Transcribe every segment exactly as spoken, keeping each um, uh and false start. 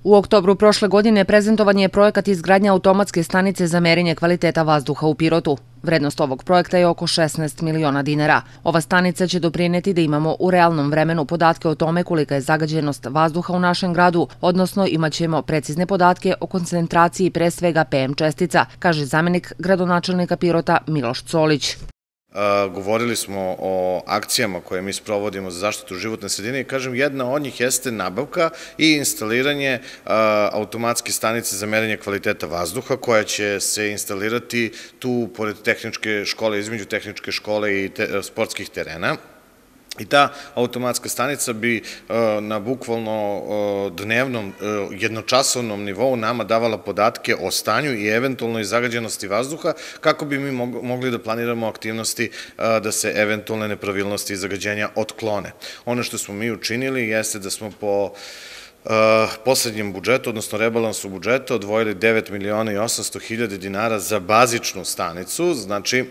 U oktobru prošle godine prezentovan je projekat izgradnje automatske stanice za merenje kvaliteta vazduha u Pirotu. Vrednost ovog projekta je oko šesnaest miliona dinara. Ova stanica će doprineti da imamo u realnom vremenu podatke o tome kolika je zagađenost vazduha u našem gradu, odnosno imaćemo precizne podatke o koncentraciji pre svega P M čestica, kaže zamenik gradonačelnika Pirota Miloš Colić. Govorili smo o akcijama koje mi sprovodimo za zaštitu životne sredine i kažem, jedna od njih jeste nabavka i instaliranje automatske stanice za merenje kvaliteta vazduha koja će se instalirati tu pored tehničke škole, između tehničke škole i sportskih terena. I ta automatska stanica bi na bukvalno dnevnom, jednočasovnom nivou nama davala podatke o stanju i eventualnoj zagađenosti vazduha kako bi mi mogli da planiramo aktivnosti da se eventualne nepravilnosti i zagađenja otklone. Ono što smo mi učinili jeste da smo po poslednjem budžetu, odnosno rebalansu budžeta, odvojili devet miliona i osamsto hiljada dinara za bazičnu stanicu, znači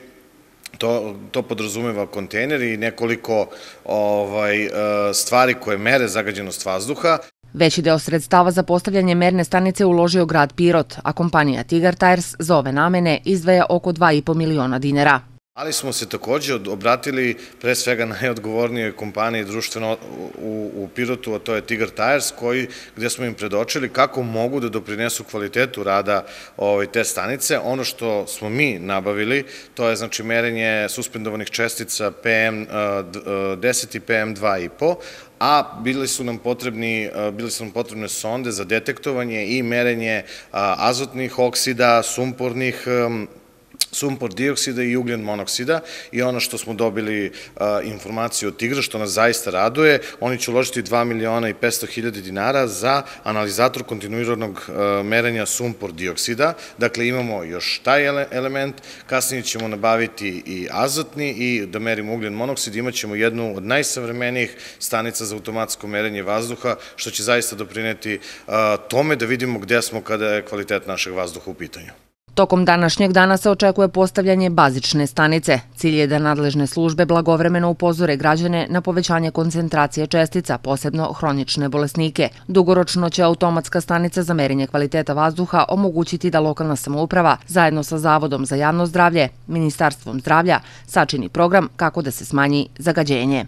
To, to podrazumeva kontejner i nekoliko ovaj, stvari koje mere zagađenost vazduha. Veći deo sredstava za postavljanje merne stanice uložio grad Pirot, a kompanija Tigar Tires za ove namene izdvaja oko dva i po miliona dinara. Ali smo se takođe obratili pre svega najodgovornijoj kompaniji društveno u, u Pirotu, a to je Tigar Tires, koji, gde smo im predočili kako mogu da doprinesu kvalitetu rada ovaj, te stanice. Ono što smo mi nabavili, to je znači merenje suspendovanih čestica P M deset i P M dva i po, a bili su nam potrebni, bili su nam potrebne sonde za detektovanje i merenje azotnih oksida, sumpornih sumpor dioksida i ugljen monoksida i ono što smo dobili informaciju od Tigra, što nas zaista raduje, oni će uložiti dva miliona i petsto hiljada dinara za analizator kontinuiranog merenja sumpor dioksida. Dakle, imamo još taj element, kasnije ćemo nabaviti i azotni i da merimo ugljen monoksid, imat ćemo jednu od najsavremenijih stanica za automatsko merenje vazduha, što će zaista doprineti tome da vidimo gde smo kada je kvalitet našeg vazduha u pitanju. Tokom današnjeg dana se očekuje postavljanje bazične stanice. Cilj je da nadležne službe blagovremeno upozore građane na povećanje koncentracije čestica, posebno hronične bolesnike. Dugoročno će automatska stanica za merenje kvaliteta vazduha omogućiti da lokalna samouprava, zajedno sa Zavodom za javno zdravlje, Ministarstvom zdravlja, sačini program kako da se smanji zagađenje.